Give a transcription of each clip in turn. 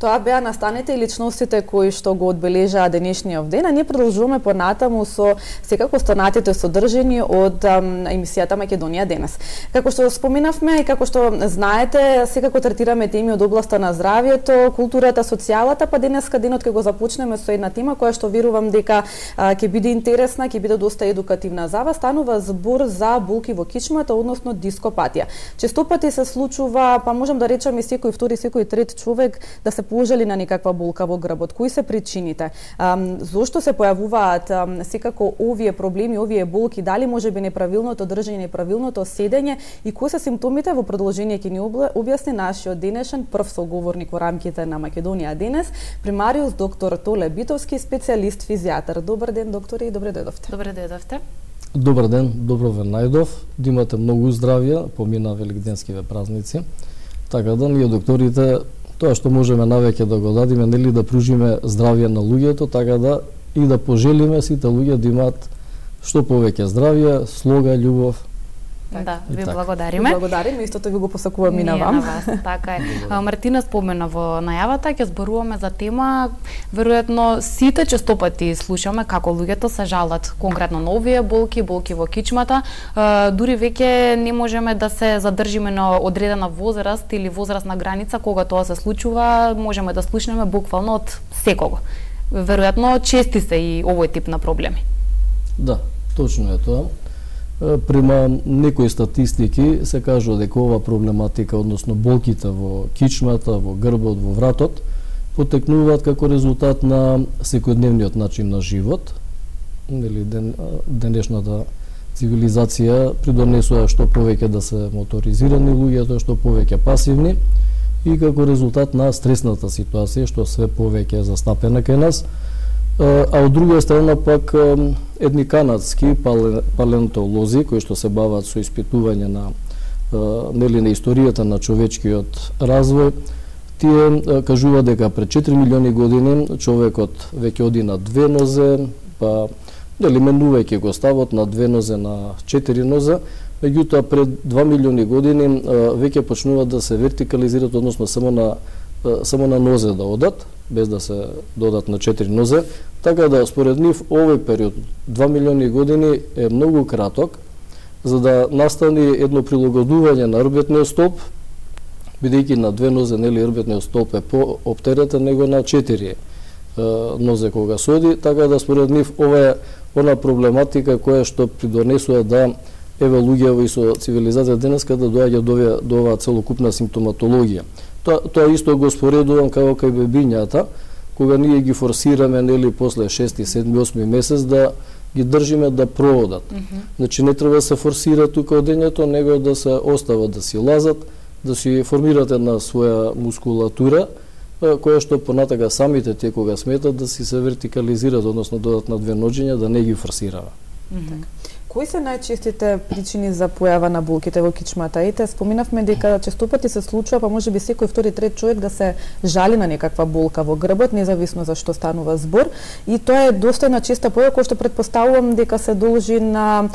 Тоа беа настаните и личностите кои што го одбележаа денешниот ден, а ние продолжуваме понатаму со секако останатите содржини од емисијата Македонија денес. Како што споменавме и како што знаете, секако третираме теми од областа на здравјето, културата, социјалата, па денеска денот ќе го започнеме со една тема која што верувам дека ќе биде интересна, ќе биде доста едукативна за вас. Станува збор за болки во кичмата, односно дископатија. Често пати се случува, па можам да речам и секој втори, секој трет човек да се положили на некаква болка во грбот. Кои се причините? Зошто се појавуваат секако овие проблеми, овие болки? Дали можеби неправилното држање, неправилното седење и кои се симптомите? Во продолжение ќе ни објасни нашиот денешен прв соговорник во рамките на Македонија денес, примариус доктор Толе Битовски, специјалист физијатар. Добар ден, докторе, и добре дојдовте. Добре дојдовте. Добар ден, добро ве најдов. Да имате многу здравје, помина великденскиве празници. Така да ние докторите тоа што можеме навеќе да го дадиме, нели, да пружиме здравје на луѓето, така да и да пожелиме сите луѓе да имаат што повеќе здравје, слога, љубов. Да, ви благодариме. Благодариме, истото ви го посакувам и на вам. На вас, така е. Мартина спомена во најавата, ќе зборуваме за тема, веројатно сите честопати слушаме како луѓето се жалат конкретно на овие болки во кичмата. Дури веќе не можеме да се задржиме на одредена возраст или возрастна граница кога тоа се случува, можеме да слушнеме буквално од секого. Веројатно чести се и овој тип на проблеми. Да, точно е тоа. Према некои статистики се кажува дека ова проблематика, односно болките во кичмата, во грбот, во вратот, потекнуваат како резултат на секојдневниот начин на живот. Нели, денешната цивилизација придонесува што повеќе да се моторизирани луѓето, што повеќе пасивни и како резултат на стресната ситуација што све повеќе е застапена кај нас. А од друга страна пак едни канадски палеонтолози кои што се бават со испитување на нели на историјата на човечкиот развој, тие кажуваат дека пред 4 милиони години човекот веќе оди на две нозе, па нели менувајќи го ставот на две нозе на 4 нозе, меѓутоа пред 2 милиони години веќе почнуваат да се вертикализираат, односно само на нозе да одат, без да се додат на 4 нозе, така да според нив овој период 2 милиони години е многу краток за да настане едно прилагодување на рбетниот столб, бидејќи на две нозе нели рбетниот столб е пооптеретен него на 4 нозе кога се оди, така да според нив ова е она проблематика која што придонесува да еве луѓе со цивилизација денеска да доаѓа до оваа целокупна симптоматологија. Тоа исто го споредувам како кај бебињата, кога ние ги форсираме нели после 6, 7, 8 месец да ги држиме да проодат. Значи не треба да се форсира тука одењето, него да се остават да си лазат, да си формираат една своја мускулатура, која што понатака самите те кога сметат да си се вертикализираат, односно додат на две ноѓења, да не ги форсирава. Кои се најчестите причини за појава на болките во кичмата? Ете, споминавме дека честопати се случува, па можеби секој втори, трет човек да се жали на некаква болка во грбот, независно за што станува збор. И тоа е доста една честа појава која што претпоставувам дека се должи на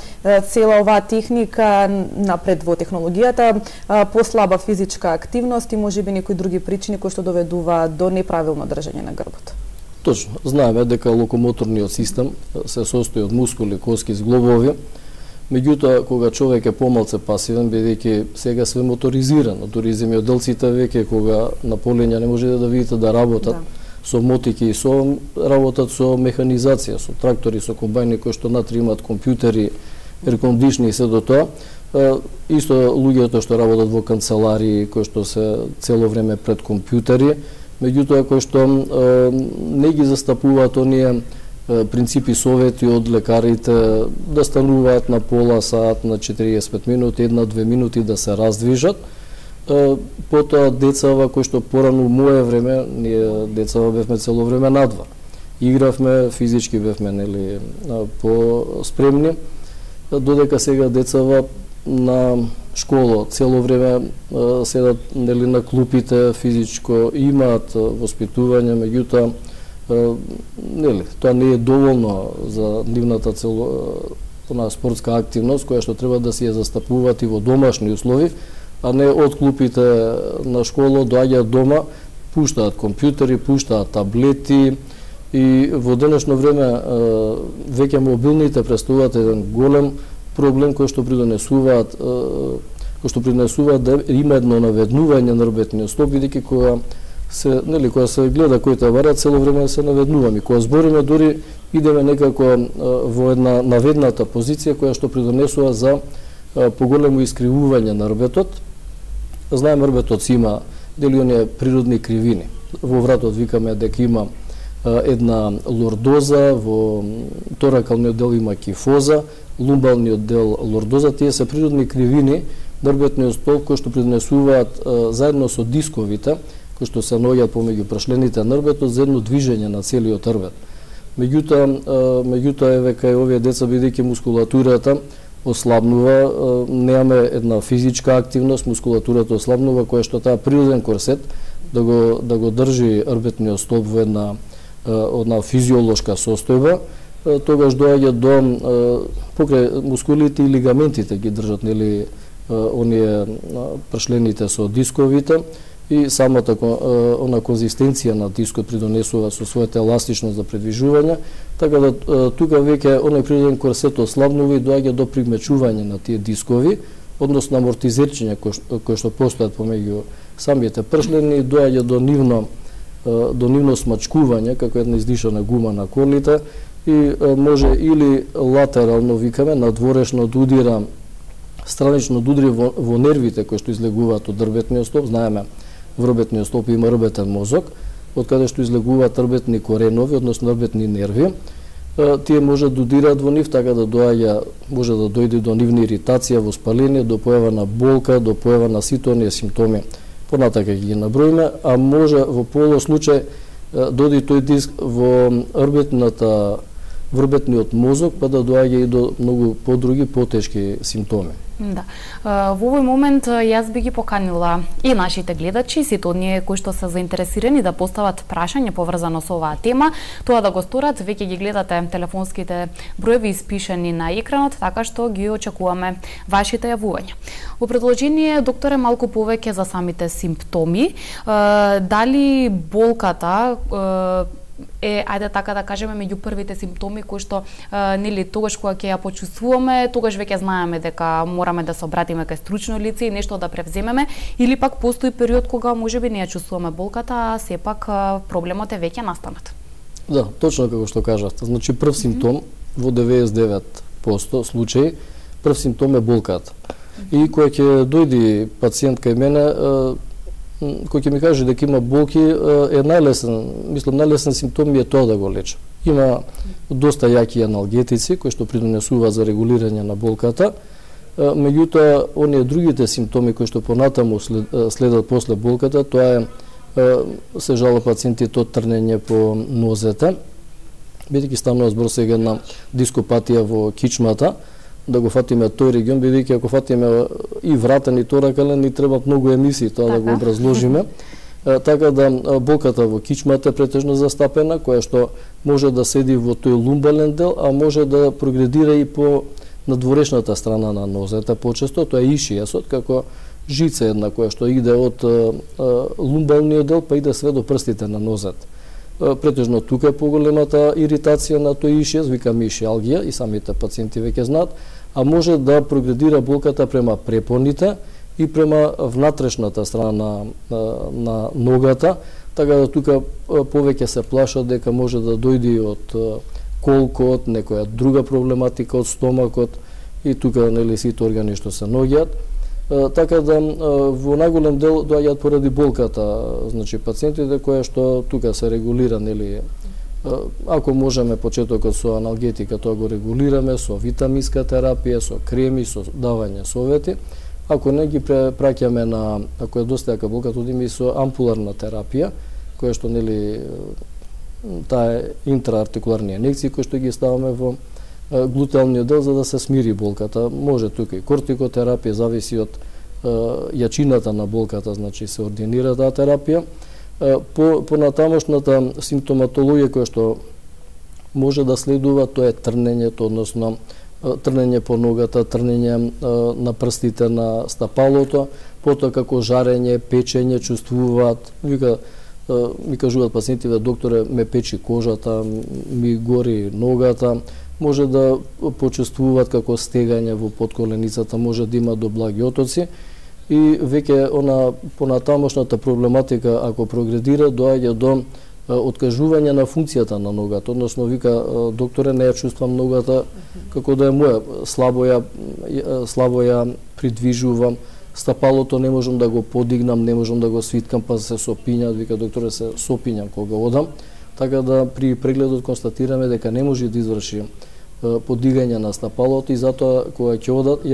цела оваа техника, напред во технологијата, послаба физичка активност и можеби некои други причини кои што доведуваат до неправилно држање на грбот. Точно. Знаеме дека локомоторниот систем се состои од мускули, коски, зглобови. Меѓутоа, кога човек е помалце пасивен, бидејќи сега све моторизирано, дури земјоделците веќе кога на полења не можете да видите да работат со мотики и со работат со механизација, со трактори, со комбајни кои што натре имаат компјутери, еркондишни и се до тоа. Исто луѓето што работат во канцеларии, кои што се цело време пред компјутери, меѓутоа кои што не ги застапуваат оние принципи, совети од лекарите да стануваат на пола сат, на 45 минути, 1-2 минути да се раздвижат. Потоа децава кои што порано моје време, ние децава бевме цело време надвор. Игравме, физички бевме нели по-спремни, додека сега децава на школа цело време седат нели на клупите, физичко имаат воспитување, меѓутоа нели тоа не е доволно за нивната спортска активност која што треба да си ја застапуваат и во домашни услови, а не од клупите на школа доаѓаат дома, пуштаат компјутери, пуштаат таблети и во денешно време веќе мобилните представуваат еден голем проблем кој што придонесуваат да има едно наведнување на работниот стоп, бидејќи кога се гледа кој товара, цело време се наведнуваме. Кога збориме, дури идеме некако во една наведната позиција која што придонесува за поголемо искривување на рбетот. Знаеме, рбетот си има дели оние природни кривини. Во вратот викаме дека има една лордоза, во торакалниот дел има кифоза, лумбалниот дел лордоза. Тие се природни кривини на рбетниот столб кои што придонесуваат заедно со дисковите кои што се наоѓаат помеѓу прашлените на рбетот за едно движење на целиот рбет. Меѓутоа еве кај овие деца, бидејќи мускулатурата ослабнува, немаме една физичка активност, мускулатурата ослабнува, која што таа природен корсет да го држи рбетниот столб во една физиолошка состојба, тогаш доаѓа до покрај мускулите и лигаментите ги држат оние прашлените со дисковите и самата она конзистенција на дискот придонесува со својата еластичност за предвижување, така да тука веќе оној природен корсет ослабнува и доаѓа до примечување на тие дискови, односно амортизерчиња кои што постојат помеѓу самите пршлени, доаѓа до нивно смачкување како една издишана гума на колите и може или латерално викаме надворешно да удира, странично да удри во нервите кои што излегуваат од рбетниот столб. Знаеме, во рбетниот столб има рбетен мозок, од каде што излегуваат рбетни коренови, односно рбетни нерви. Тие може да удираат во нив, така да може да дојде до нивна иритација, воспаление, до појава на болка, до појава на сите оние симптоми. Понатака ги наброиме, а може во полу случај дојде тој диск во рбетниот мозок, па да доаѓа и до многу подруги, потешки симптоми. Да. Во овој момент јас би ги поканила и нашите гледачи, сите оние кои што се заинтересирани да постават прашање поврзано со оваа тема, тоа да го сторат, веќе ги гледате телефонските броеви испишани на екранот, така што ги очекуваме вашите јавувања. Во продолжение, докторе, малку повеќе за самите симптоми, дали болката ајде така да кажеме, меѓу првите симптоми кои што тогаш кога ќе ја почувствуваме, тогаш веќе знаеме дека мораме да се обратиме кај стручно лице и нешто да превземеме, или пак постои период кога можеби не ја чувствуваме болката, а сепак проблемот е веќе настанат. Да, точно како што кажавте. Значи прв симптом во 99% случаи, прв симптом е болката. И кога ќе дојде пациент кај мене, кој ќе ми каже дека има болки, е најлесен симптом е тоа да го лечам. Има доста јаки аналгетици кои што придонесуваат за регулирање на болката, меѓутоа оние другите симптоми кои што понатаму следат после болката, тоа се жалат пациентите од трнење по нозете, бидејќи станува збор сега на дископатија во кичмата, да го фатиме тој регион, бидејќи ако фатиме и вратен и торакален, ни требаат многу емисии тоа да го образложиме. Така да болката во кичмата е претежно застапена, која што може да седи во тој лумбален дел, а може да прогредира и по надворешната страна на нозете почесто, тоа е ишијасот, како жица една која што иде од лумбалниот дел па иде све до прстите на нозете. Претежно тука е поголемата иритација на тој ишијас, викаме ишиалгија, и самите пациенти веќе знаат, а може да прогредира болката према препоните и према внатрешната страна на ногата, така да тука повеќе се плашат дека може да дојде од колкот, некоја друга проблематика од стомакот и тука сите органи што се наоѓаат. Така да во најголем дел доаѓаат поради болката, значи пациентите кои што тука се регулира, ако можеме почетокот со аналгетика, тоа го регулираме со витаминска терапија, со креми, со давање совети. Ако не ги праќаме на, ако е доста јака болката, одиме и со ампуларна терапија, која што таа е интраартикуларни инекции кои што ги ставаме во глутеалниот дел за да се смири болката. Може тука и кортикотерапија, зависи од јачината на болката, значи се ординира таа терапија. По натамошната симптоматологија која што може да следува, тоа е трнењето, односно трнење по ногата, трнење на прстите на стапалото, потоа како жарење, печење чувствуваат, вика ми кажуваат пациентите, докторе, ме печи кожата, ми гори ногата, може да почувствуваат како стегање во подколеницата, може да има до благи отоци и веќе она понатамошната проблематика, ако прогредира, доаѓа до откажување на функцијата на ногата, односно вика докторе, не ја чувствам ногата како да е моја, слабо ја придвижувам, стапалото не можам да го подигнам, не можам да го свиткам, па се сопињат, вика докторе, се сопињам кога одам, така да при прегледот констатираме дека не може да изврши подигање на стапалото и затоа кога ќе одат,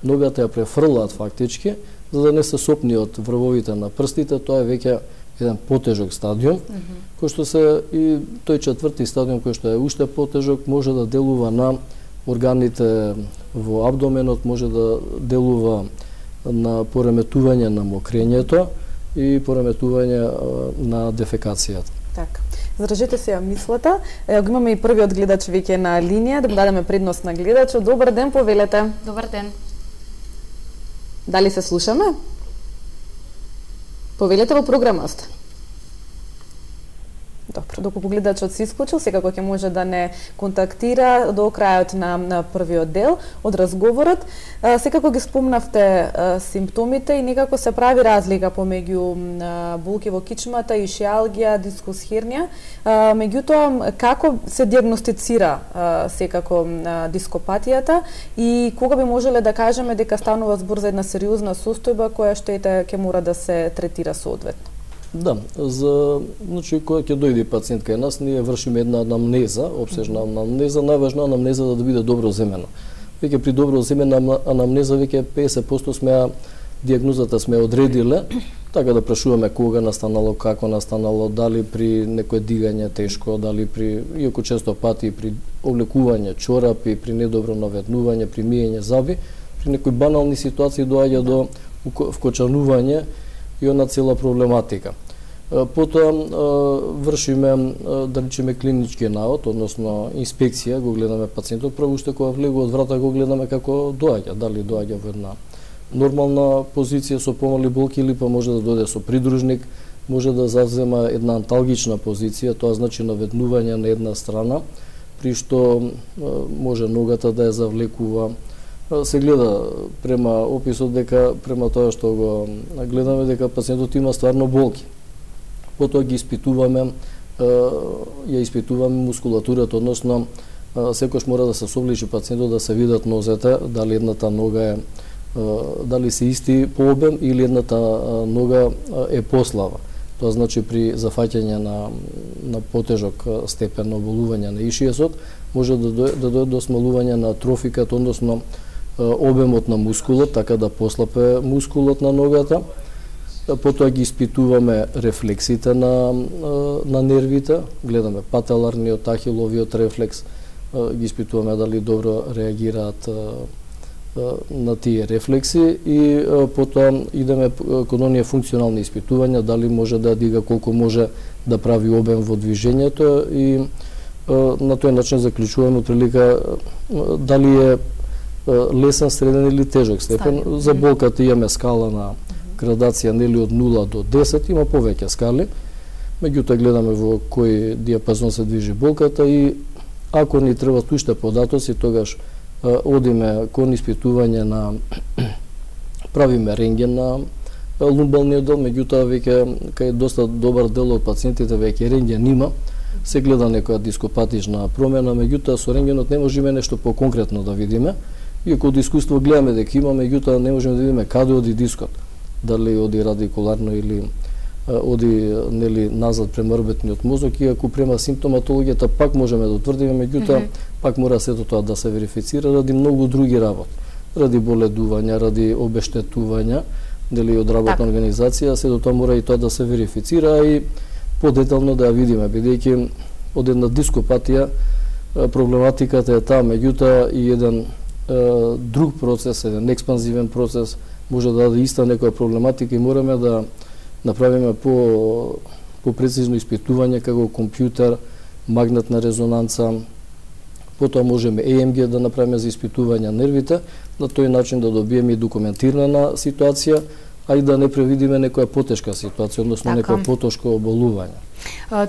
ногата ја префрлаат фактички, за да не се сопни од врвовите на прстите, тоа е веќе еден потежок стадиум, кој што се и тој четврти стадиум кој што е уште потежок, може да делува на органите во абдоменот, може да делува на пореметување на мокрењето и пореметување на дефекацијата. Така. Задржете се ја мислата. Го имаме и првиот гледач веќе на линија, да му дадеме предност на гледачот. Добар ден, повелете. Добар ден. Дали се слушаме? Повелете во програма сте. Добро, доколку гледачот се исклучил, секако ќе може да не контактира до крајот на првиот дел од разговорот. Секако ги спомнавте симптомите и некако се прави разлика помеѓу болки во кичмата, ишиалгија, дискус хернија. Меѓутоа, како се диагностицира секако дископатијата и кога би можеле да кажеме дека станува збор за една сериозна состојба која што ќе мора да се третира соодветно? Да, значи кога ќе дојде пациент кај нас, ние вршиме една анамнеза, обсежна анамнеза, најважна анамнеза да биде добро земена. Веќе при добро земена анамнеза веќе 50% сме диагнозата сме одредиле, така да прашуваме кога настанало, како настанало, дали при некое дигање тешко, дали при, иако често пати при облекување чорапи, при недобро наведнување, при миење зъби, при некои банални ситуации доаѓа до вкочанување и она цела проблематика. Потоа вршиме, да речеме, клинички наод, односно инспекција, го гледаме пациентот, прво уште кога влегува од врата го гледаме како доаѓа, дали доаѓа во една нормална позиција со помали болки или па може да дојде со придружник, може да завзема една анталгична позиција, тоа значи наведнување на една страна, при што може ногата да ја завлекува. Се гледа према описот дека према тоа што го гледаме дека пациентот има стварно болки. Потоа ги испитуваме, ја испитуваме мускулатурата, односно секојаш мора да се собличи пациентот да се видат нозете, дали едната нога е дали се исти по обем или едната нога е послаба. Тоа значи при зафаќање на потежок степен на оболување на ишијасот може да дојде до смалување на трофиката, односно обемот на мускулот, така да послапе мускулот на ногата. Потоа ги испитуваме рефлексите на нервите, гледаме пателарниот, ахиловиот рефлекс, ги испитуваме дали добро реагираат на тие рефлекси и потоа идеме кон оние функционални испитувања, дали може да дига, колку може да прави обем во движењето и на тој начин заклучуваме прилика дали е лесен, среден или тежок степен. За болката имаме скала на градација нели од 0 до 10, има повеќе скали. Меѓутоа гледаме во кој диапазон се движи болката и ако ни требат уште податоци, тогаш одиме кон испитување на правиме рентген на лумбалниот дел, меѓутоа веќе кај доста добар дел од пациентите веќе рентген има, се гледа некоја дископатична промена, меѓутоа со рентгенот не можеме нешто поконкретно да видиме. Иако од искуство гледаме дека има, меѓутоа не можеме да видиме каде оди дискот, дали оди радикуларно или оди нели назад према рбетниот мозок, иако према симптоматологијата пак можеме да утврдиме, меѓутоа пак мора сето тоа да се верифицира ради многу други работи, ради боледувања, ради обештетувања, нели од работна организација, сето тоа мора и тоа да се верифицира и подетално да ја видиме, бидејќи од една дископатија проблематиката е таа, меѓутоа и еден друг процес, еден експанзивен процес може да даде иста некоја проблематика и мораме да направиме по прецизно испитување како компјутер, магнетна резонанца, потоа можеме EMG да направиме за испитување нервите, на тој начин да добиеме и документирана ситуација, а и да не превидиме некоја потешка ситуација, односно Така. некој потешко оболување.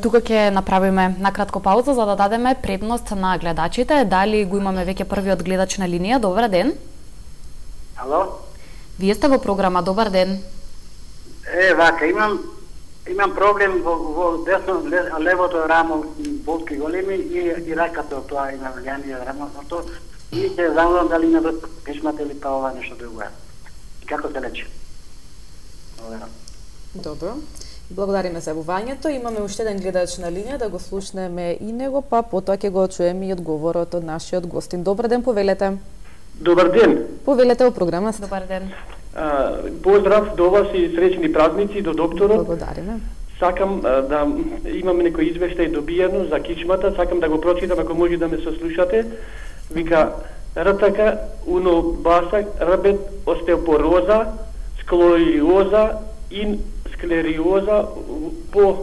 Тука ќе направиме накратко пауза за да дадеме предност на гледачите. Дали го имаме веќе првиот гледач на линија? Добар ден. Ало? Вие сте во програма. Добар ден. Вака, имам проблем во десно, левото рамо, болки големи и раката, тоа има влијание рамото. И ќе знам дали има врска кичмата или па ова нешто друго. И како се лечи? Добро. Благодариме за јавувањето. Имаме уште еден гледач на линија, да го слушнеме и него, па потоа ќе го чуеме и одговорот од нашиот гостин. Добар ден, повелете. Добар ден. Повелете во програма. Добар ден. Поздрав до вас и среќни празници до докторот. Благодариме. Сакам да имам некој извештај добиено за кичмата, сакам да го прочитам ако може да ме сослушате. Вика РТК уно баса рабет остеопороза, склериоза и склериоза по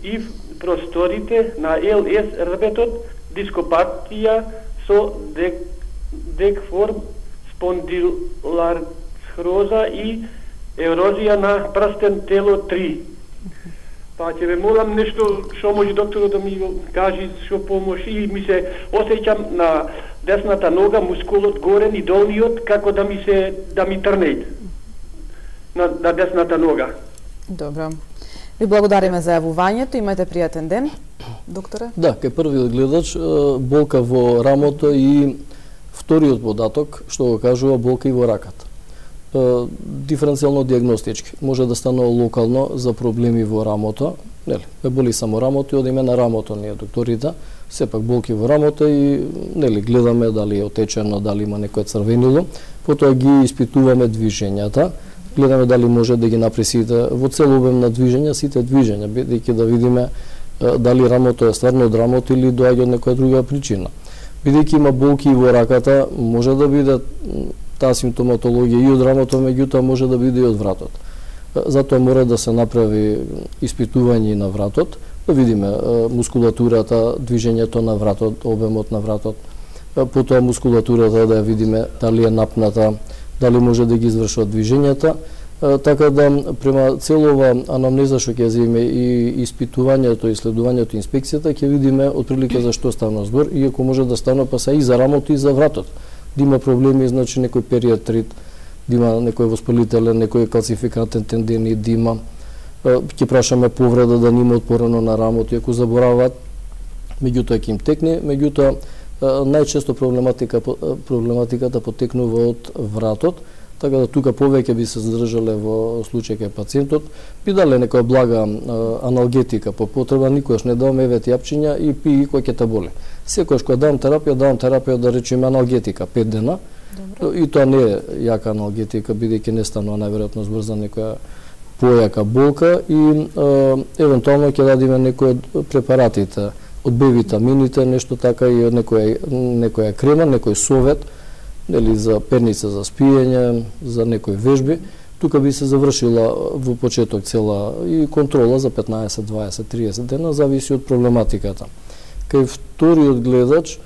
ив просторите на ЛС рабетот, дископатија со декформ спондиларцроза и ерозија на прстен тело 3. Па ќе ве молам нешто што може докторот да ми го каже што помоши и ми се осеќам на десната нога мускулот горен и долниот како да ми трне на десната нога. Добро. Ви благодариме за јавувањето. Имате пријатен ден, докторе. Да, кај првиот гледач болка во рамото и вториот податок што го кажува болка и во раката. Диференцијално диагностички може да станува локално за проблеми во рамото, нели? Ме боли само рамото и одиме на рамото ние докторите, сепак болки во рамото и нели гледаме дали е отечено, дали има некое црвенило, потоа ги испитуваме движењата, гледаме дали може да ги направи сите во цел обем на движења, сите движења, бидејќи да видиме дали рамото е стварно од рамото или доаѓа од некоја друга причина. Бидејќи има болки и во раката, може да биде таа симптоматологија и од рамото, меѓутоа може да биде и од вратот. Затоа мора да се направи испитување на вратот, да видиме мускулатурата, движењето на вратот, обемот на вратот, потоа мускулатурата да ја видиме дали е напната, дали може да ги извршува движењата, така да према целова анамнеза што ќе земе и испитувањето, исследувањето, инспекцијата, ќе видиме отприлика за што стана збор, иако може да стане па се и за рамото и за вратот. Да има проблеми, значи некој периатрит, да има некој воспалителен, некој калцификатен тендинит, да има, ќе прашаме повреда да нема отпорено на рамото, иако забораваат, меѓутоа ќе им текне, меѓутоа најчесто проблематиката потекнува од вратот, така да тука повеќе би се задржале во случај кај пациентот, би дале некоја блага аналгетика по потреба, никогаш не даваме евет јапчиња и пи кој ќе те боли. Секогаш кога давам терапија да речеме аналгетика 5 дена. Добро. И тоа не е јака аналгетика, бидејќи не станува најверојатно збор за некоја појака болка и евентуално ќе дадиме некој од препаратите, од Б витамините, нешто така и од некоја крема, некој совет, или за перница за спиење, за некои вежби. Тука би се завршила во почеток цела и контрола за 15, 20, 30 дена, зависи од проблематиката. Кај вториот гледач,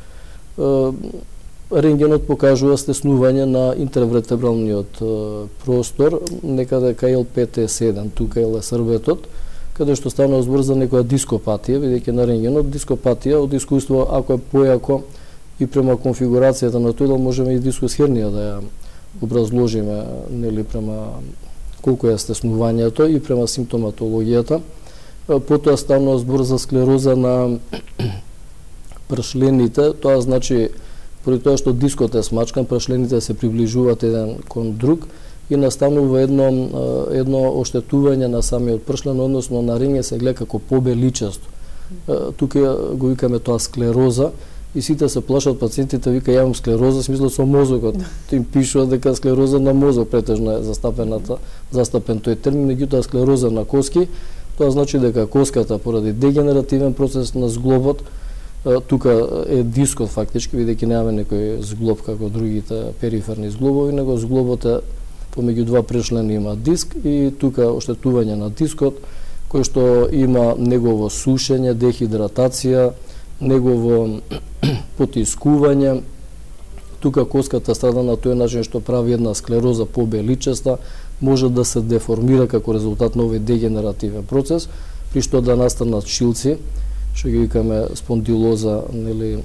рентгенот покажува стеснување на интервертебралниот простор, некаде кај L5-T7, тука е србетот, каде што станува збор за некоја дископатија, бидејќи на рентгенот дископатија од искуство, ако е појако и према конфигурацијата на тој, можеме и дискус хернија да ја образложиме, нели, према колку е стеснувањето и према симптоматологијата. Потоа станува збор за склероза на прашлените, тоа значи поради тоа што дискот е смачкан, прашлените се приближуваат еден кон друг и настанува едно оштетување на самиот пршлен, односно на рентген се гледа како побеличасто. Тука го викаме тоа склероза и сите се плашат пациентите, вика ја имам склероза, смислат со мозокот. Им пишува дека склероза на мозок претежно е застапен тој термин, меѓутоа склероза на коски, тоа значи дека коската поради дегенеративен процес на зглобот, тука е дискот фактички, бидејќи немаме некој зглоб како другите периферни зглобови, него зглобот е помеѓу два прешлени има диск и тука оштетување на дискот, кој што има негово сушење, дехидратација, негово потискување, тука коската страда на тој начин што прави една склероза побеличеста, може да се деформира како резултат на овој дегенеративен процес, при што да настанат шилци, што ги викаме спондилоза, нели,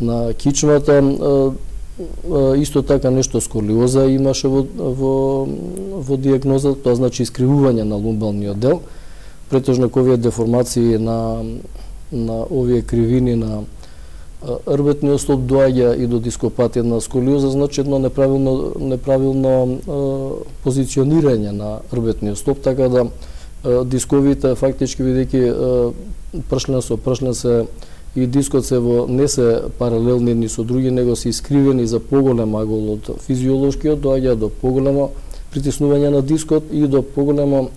на кичмата. Исто така нешто сколиоза имаше во дијагноза, тоа значи искривување на лумбалниот дел. Претежно овие деформации на овие кривини на рбетниот столб доаѓа и до дископатија на сколиоза, значи едно неправилно позиционирање на рбетниот столб, така да дисковите фактички бидејќи пршлен со пршлен се и дискот се не се паралелни едни со други, него се искривени за поголем агол од физиолошкиот, доаѓа до поголемо притиснување на дискот и до поголема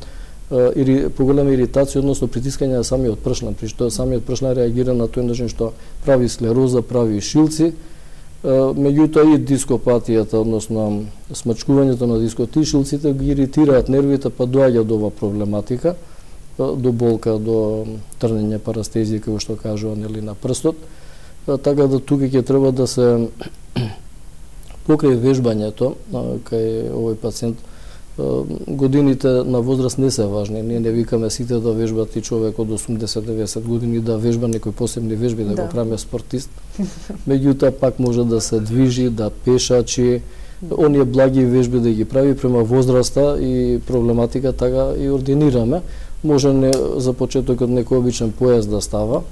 иритација, односно притискање на самиот пршлен, при што самиот пршлен реагира на тој начин што прави склероза, прави шилци, меѓутоа и дископатијата, односно смачкувањето на дискот и шилците ги иритираат нервите, па доаѓа до ова проблематика, до болка, до трнење, парастезија, како што кажува, нели, на прстот. Така да тука ќе треба да се покрај вежбањето кај овој пациент. Годините на возраст не се важни. Ние не викаме сите да вежбат и човек од 80-90 години да вежба некои посебни вежби, да го правиме спортист. Меѓутоа пак може да се движи, да пешачи, оние благи вежби да ги прави према возраста и проблематика, така и ординираме. Може за почетокот некој обичен појас да става,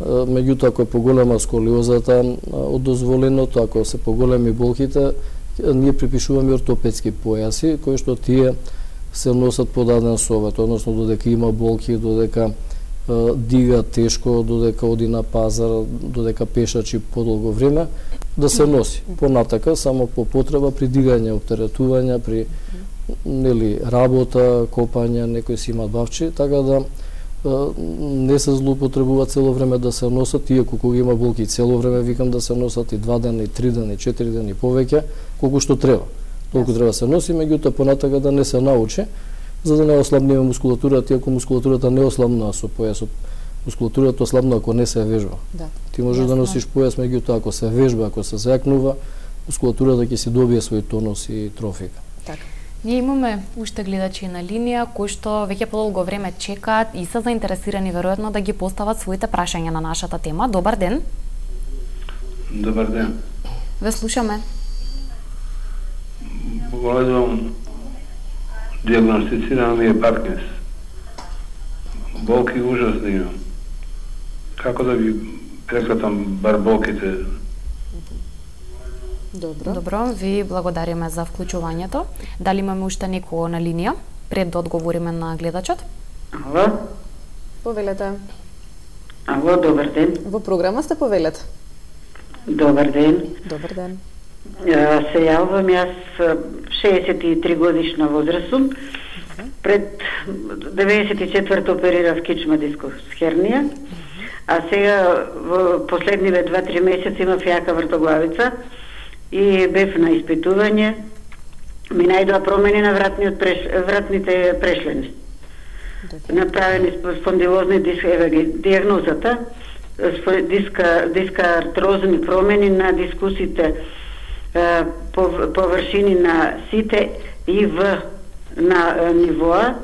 меѓутоа ако е поголема сколиозата од дозволеното, ако се поголеми болките, ние припишуваме ортопедски појаси, кои што тие се носат по даден совет, односно додека има болки, додека дига тешко, додека оди на пазар, додека пешачи подолго време, да се носи. Понатака, само по потреба при дигање, оптеретување, при работа, копање, некои си имат бавчи, така да не се злоупотребува цело време да се носат, иако кога има болки цело време викам да се носат и 2 дена, и 3 дена, и 4 дена и повеќе, колку што треба. Толку треба се носи, меѓутоа понатака да не се научи, за да не ослабниме мускулатурата, иако мускулатурата не ослабнува со појасот. Мускулатурата ослабнува ако не се вежба. Ти можеш да носиш појас, меѓутоа ако се вежба, ако се закнува, мускулатурата ќе си добие свој тонус и трофика. Така. Ние имаме уште гледачи на линија кои што веќе подолго време чекаат и се заинтересирани веројатно да ги постават своите прашања на нашата тема. Добар ден. Добар ден. Ве слушаме. Погледувам, диагностицирано ми е Паркинс. Болки ужасно имам. Како да ги прекратам бар болките? Добро, ви благодариме за вклучувањето. Дали имаме уште некој на линија пред да одговориме на гледачот? Ало? Повелете. Ало, добар ден. Во програма сте, повелете. Добар ден. Добар ден. Се јавувам, јас 63 годишна возраст сум. Пред 94-то оперирав кичма дискус хернија, а сега во последниве 2-3 месеци имав јака вртоглавица и бев на испитување, ми најдоа промени на вратните прешлени. Направени спондилозни диагнозата, дискаартрозни промени на дискусите, површини на сите и на нивоа,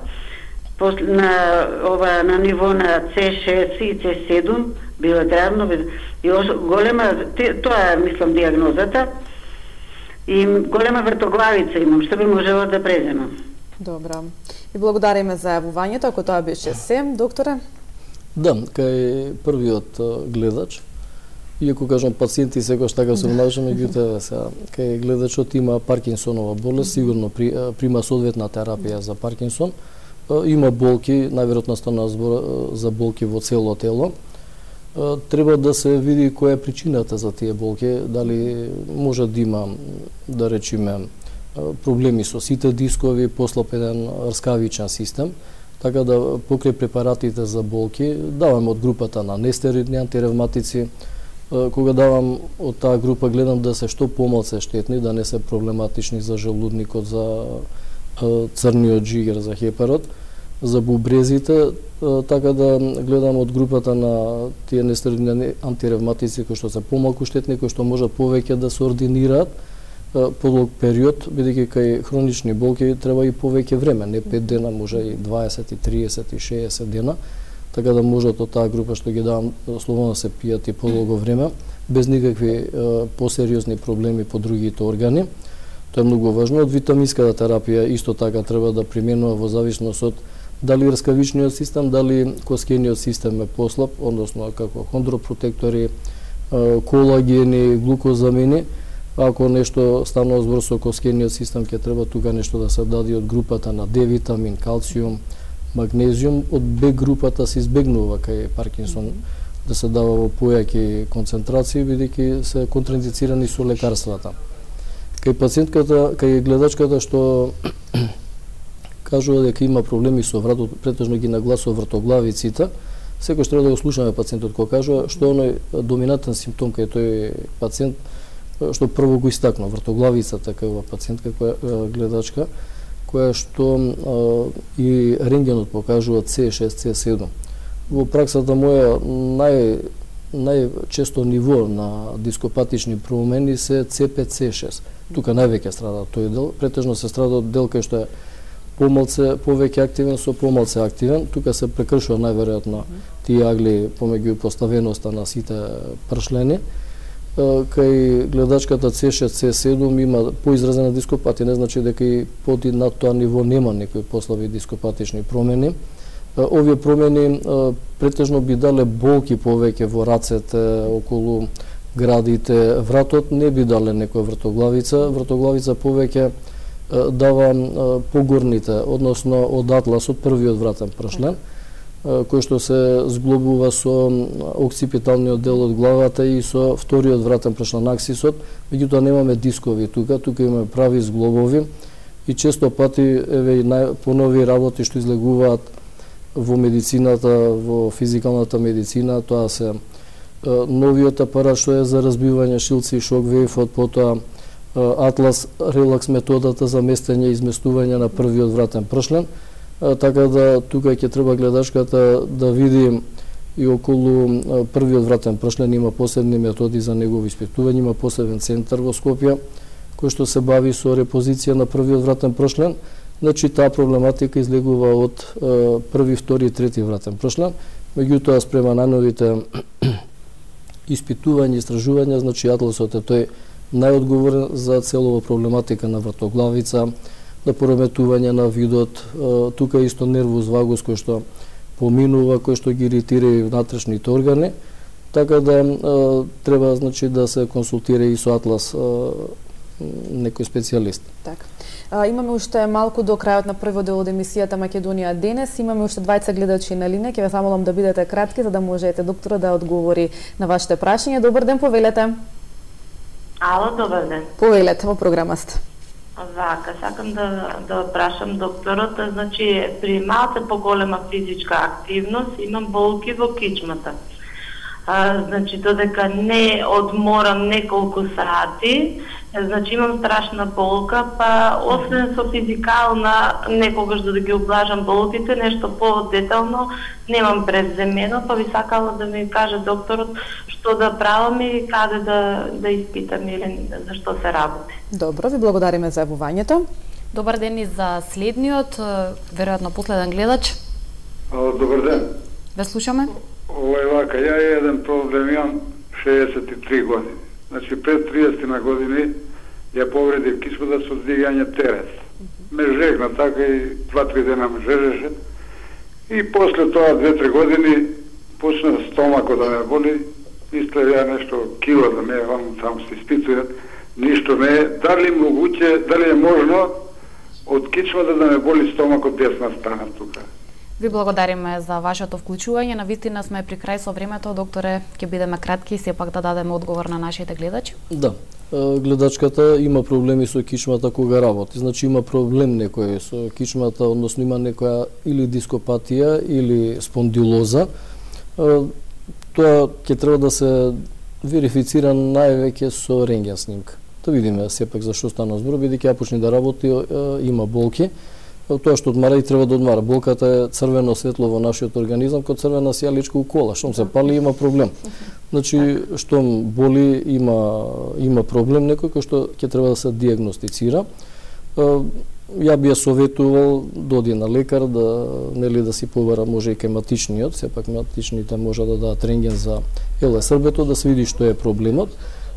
на ниво на C6 и C7 билатерално и голема, тоа мислам диагнозата, и голема вртоглавица имам, што би можела да преземам. Добра. И благодариме за јавувањето, ако тоа беше се, докторе. Да, кај првиот гледач, иако кажам пациенти секојаш така се обнажа, меѓутоа сега кај гледачот има Паркинсонова болест, сигурно прима соодветна терапија за Паркинсон, има болки, најверојатно стана збор за болки во цело тело. Треба да се види која е причината за тие болки, дали може да има, да речеме, проблеми со сите дискови, послаб еден рскавичен систем, така да покрај препаратите за болки давам од групата на нестероидни антиревматици. Кога давам од таа група гледам да се што помалку штетни, да не се проблематични за желудникот, за црниот жигер, за хепарот. за бубрезите, така да гледам од групата на тие нестероидни антиревматици кои што се помалку штетни, кои што можат повеќе да се ординираат подолг период, бидејќи кај хронични болки треба и повеќе време, не 5 дена, може и 20, и 30, и 60 дена, така да можат од таа група што ги давам слободно да се пијат и подолго време, без никакви посериозни проблеми по другите органи. Тоа е многу важно. Од витаминската терапија исто така треба да применува во зависност од дали раскавичниот систем, дали коскениот систем е послаб, односно како хондропротектори, колагени, глукозамини. Ако нешто станува збор со коскениот систем, ќе треба тука нешто да се даде од групата на Д витамин, калциум, магнезиум. Од Б групата се избегнува кај Паркинсон да се дава во појаки концентрации, бидејќи се контраиндицирани со лекарствата. Кај пациентката, кај гледачката што кажува дека има проблеми со вратот, претежно ги нагласува вртоглавиците, секојаш треба да го слушаме пациентот кој кажува што оној доминантен симптом кај тој пациент што прво го истакна вртоглавицата кај ова пациентка која гледачка, која што и рентгенот покажува C6, C7. Во праксата моја најчесто ниво на дископатични промени се C5, C6. Тука највеќе страда тој дел, претежно се страда од дел кај што е повеќе активен со помалце активен. Тука се прекршува најверојатно тие агли помеѓу поставеноста на сите пршлени. Кај гледачката C6, C7 има поизразена дископатија, не значи дека и под и над тоа ниво нема некои послаби дископатични промени. Овие промени претежно би дале болки повеќе во рацете, околу градите, вратот не би дале некоја вртоглавица. Вртоглавица повеќе дава погорните, односно од атласот, првиот вратен пршлен, кој што се зглобува со окципиталниот дел од главата и со вториот вратен пршлен аксисот, меѓутоа немаме дискови тука имаме прави зглобови и често пати еве и понови работи што излегуваат во медицината, во физикалната медицина, тоа се новиот апарат што е за разбивање шилци и шоквејфот, потоа Атлас релакс методата за местење и изместување на првиот вратен пршлен, така да тука ќе треба гледачката да види и околу првиот вратен пршлен има посебни методи за негово испитување, има посебен центар во Скопје кој што се бави со репозиција на првиот вратен пршлен. Значи таа проблематика излегува од први, втори и трети вратен пршлен, меѓутоа спрема најновите испитувања и истражувања, значи атласот е тој најодговорен за целова проблематика на вртоглавица, на пореметување на видот, тука исто нервус вагус кој што поминува, кој што ги иритира и внатрешните органи, така да треба значи да се консултира и со атлас некој специјалист. Така. Имаме уште малку до крајот на првиот дел од емисијата Македонија денес. Имаме уште двајца гледачи на линија. Ќе ве замолам да бидете кратки за да можете доктора да одговори на вашите прашања. Добар ден, повелете. Ало, добар ден. Повелете, во програма сте. Вака, сакам да прашам докторот, значи при малце поголема физичка активност имам болки во кичмата. Значи додека не одморам неколку сати, значи имам страшна болка, па освен со физикална, некогаш да ги облажам болките, нешто по-детално немам преземено, па би сакала да ми каже докторот што да правам и каде да испитам или за што се работи. Добро, ви благодариме за јавувањето. Добар ден и за следниот, веројатно последен гледач. Добар ден. Ве слушаме. Ова вака, ја еден проблем имам 63 години. Значи пред 30 години ја повредив кичмата со дигање терес. Ме жегна така и 2-3 дена ме жежеше. И после тоа 2-3 години почна стомакот да ме боли, истле нешто кило да ме само се испитуват, ништо не е. Дали е можно од кичмата да ме боли стомакот десна страна тука? Ви благодариме за вашето вклучување. Навистина сме при крај со времето, докторе, ќе бидеме кратки и сепак да дадеме одговор на нашите гледачи. Да. Гледачката има проблеми со кичмата кога работи. Значи има проблем некој со кичмата, односно има некоја или дископатија или спондилоза. Тоа ќе треба да се верифицира највеќе со рентген снимка. Да видиме сепак за што стана збор, бидејќи ја почне да работи, има болки. тоа што одмара и треба да одмара. Болката е црвено светло во нашиот организам, како црвена сијаличка у кола. Штом се пали има проблем. Значи, штом боли има проблем некој кој што ќе треба да се диагностицира. Ја би ја советувал да оди на лекар, да си побара може и кај матичниот, сепак матичните може да дадат рентген за ЛСРБ-то, да се види што е проблемот.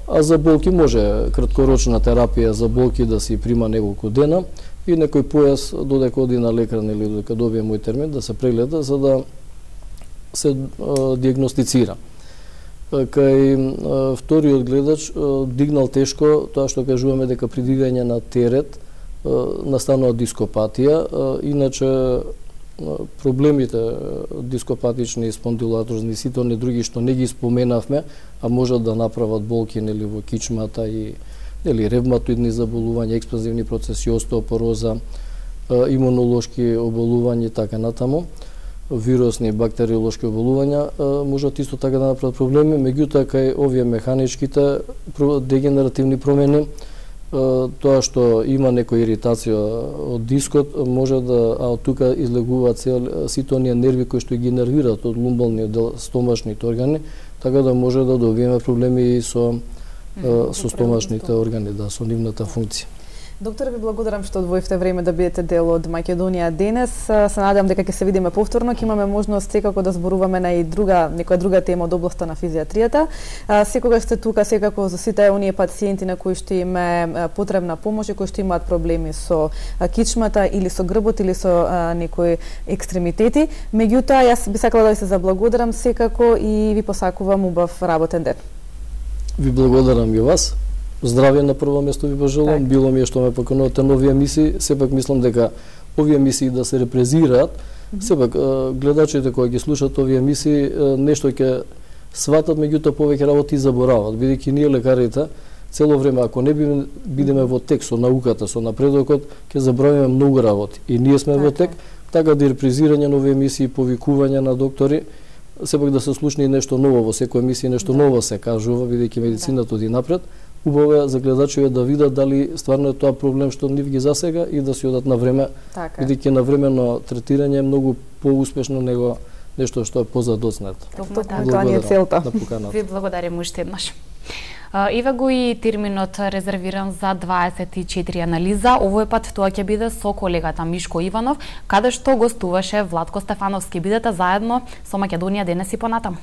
А за болки може краткорочна терапија за болки да си прима неколку дена и некој појас додека оди на лекар или додека добие мој термин да се прегледа за да се диагностицира. Кај вториот гледач дигнал тешко тоа што кажуваме дека при дигање на терет настанува дископатија, иначе проблемите дископатични, спондилоартрозни, сите оние други што не ги споменавме, а можат да направат болки нели во кичмата и нели ревматоидни заболувања, експанзивни процеси, остеопороза, имунолошки оболувања и така натаму, вирусни, бактериолошки оболувања, можат исто така да направат проблеми, меѓутоа кај овие механичките дегенеративни промени, тоа што има некоја иритација од дискот може да, а од тука излегуваат сите оние нерви кои што ги нервираат од лумбалниот дел, стомашните органи, така да може да добиеме проблеми и со стомашните органи, да, со нивната функција. Доктор, ви благодарам што одвоивте време да бидете дел од Македонија денес. Се надевам дека ќе се видиме повторно, ќе имаме можност секако да зборуваме на и некоја друга тема од областа на физијатријата. Секогаш сте тука секако за сите оние пациенти на кои што им е потребна помош и кои што имаат проблеми со кичмата или со грбот или со некои екстремитети. Меѓутоа, јас би сакала да ви се заблагодарам секако и ви посакувам убав работен ден. Ви благодарам и вас. Здравје на прво место ви пожелувам. Било ми е што ме поканувате на овие емисии. Сепак мислам дека овие емисии да се репрезираат. Сепак гледачите кои ги слушаат овие емисии нешто ќе сватат, меѓутоа повеќе работи заборават, бидејќи ние лекарите цело време ако не бидеме во тек со науката, со напредокот, ќе забравиме многу работи. И ние сме во тек, така да репрезирање на овие емисии, повикување на доктори, сепак да се слушне и нешто ново во секоја емисија, нешто ново се кажува, бидејќи медицината оди напред. Убаво е за гледачите да видат дали стварно е тоа проблем што нив ги засега и да си одат на време, бидејќи навремено третирање е многу поуспешно него нешто што е позадоцнато. Тоа ни е целта. Ви благодарим уште еднаш. Еве го и терминот резервиран за 24 анализа. Овој пат тоа ќе биде со колегата Мишко Иванов, каде што гостуваше Владко Стефановски. Бидете заедно со Македонија денес и понатаму.